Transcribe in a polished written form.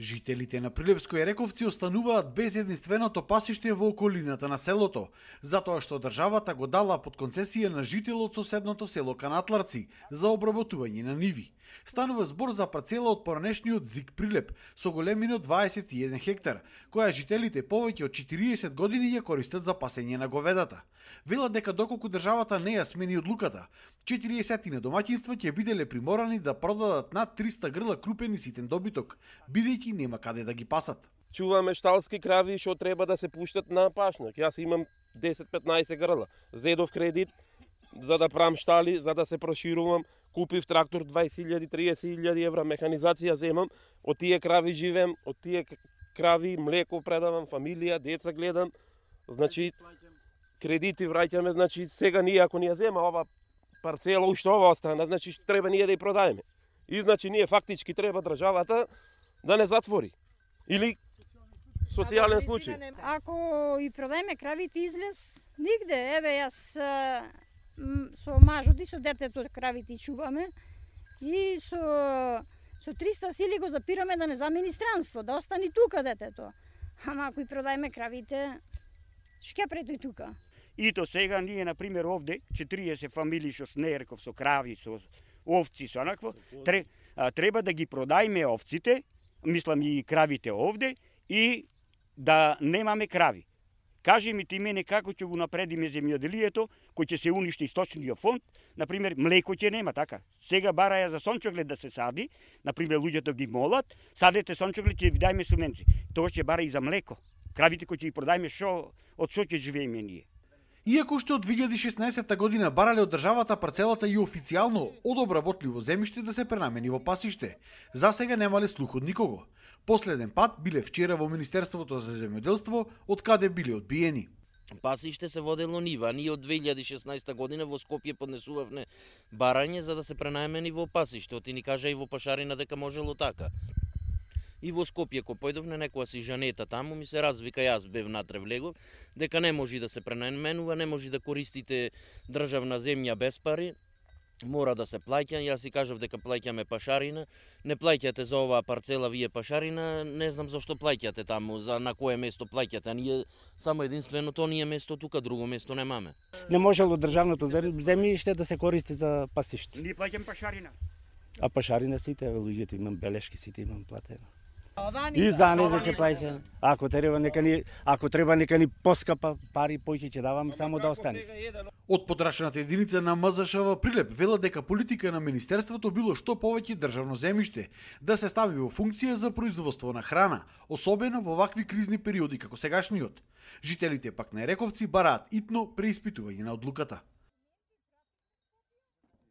Жителите на Прилепско и Рековци остануваат без единственото пасиште во околината на селото, затоа што државата го дала под концесија на жител од соседното село Канатларци за обработување на ниви. Станува збор за парцела од поранешниот ЗИК Прилеп со големина 21 хектар, која жителите повеќе од 40 години ја користат за пасење на говедата. Велат дека доколку државата не ја смени одлуката, 40 домаќинства ќе биделе приморани да продадат над 300 грла крупен и ситен добиток, бидејќи нема каде да ги пасат. Чуваме шталски крави што треба да се пуштат на пашник. Јас имам 10-15 грла. Зедов кредит за да правам штали, за да се проширувам. Купив трактор 20.000-30.000 евра, механизација земам, од тие крави живеем, од тие крави млеко предавам, фамилија, деца гледам. Значи кредити враќаме, значи сега ние ако ни ја зема ова парцела, уште ова остана, значи треба ние да ја продаеме. И значи ние фактички треба државата да не затвори. Или социјален случај. Ако и продаеме кравите излез, нигде, еве јас со мажот и со детето кравите чуваме и со 300 сили го запираме да не замени странство, да остани тука детето. Ама ако и продаеме кравите, што ќе прави тука? Ито сега ние, например, овде 40 фамилии што снерков со крави, со овци, со онакво, треба да ги продајме овците, мислам и кравите овде, и да немаме крави. Кажи ми ти мене како ќе го напредиме земјоделието, кој ќе се уништи сточниот фонд, например, млеко ќе нема, така. Сега бараја за сончоглед да се сади, например, луѓето ги молат, садете сончоглед, ќе ви дајме субвенции. Тоа ќе бара и за млеко. Кравите кои ќе ги продајме, од што ќе живееме ние? Иако што од 2016 година барале од државата парцелата и официјално од обработливо земјиште да се пренамени во пасиште, за сега немале слух од никого. Последен пат биле вчера во Министерството за земјоделство, од каде биле одбиени. Пасиште се водело нива, ние од 2016 година во Скопје поднесувавме барање за да се пренаемени во пасиште. Оти ни кажа и во Пашарина дека можело така. И во Скопје ко појдовне некоја си жанета таму ми се развика, јас бев натре влегов, дека не може да се пренаменува, не може да користите државна земја без пари, мора да се плаќа. Јас си кажав дека плаќаме Пашарина, не плаќате за оваа парцела вие Пашарина, не знам зашто плаќате таму, за на кое место плаќате, а ние само единственото ние место тука, друго место немаме. Не можело државното земјиште да се користи за пасиште. Ние плаќаме Пашарина. А Пашарина сите, луѓето имам белешки, сите имам платено. И за не ќе плаќаме. Ако треба нека ни поскапа пари, поќе ќе даваме само да остане. Од подрачната единица на МЗШ Прилеп велат дека политика на министерството било што повеќе државно земјиште да се стави во функција за производство на храна, особено во вакви кризни периоди како сегашниот. Жителите пак на Рековци бараат итно преиспитување на одлуката.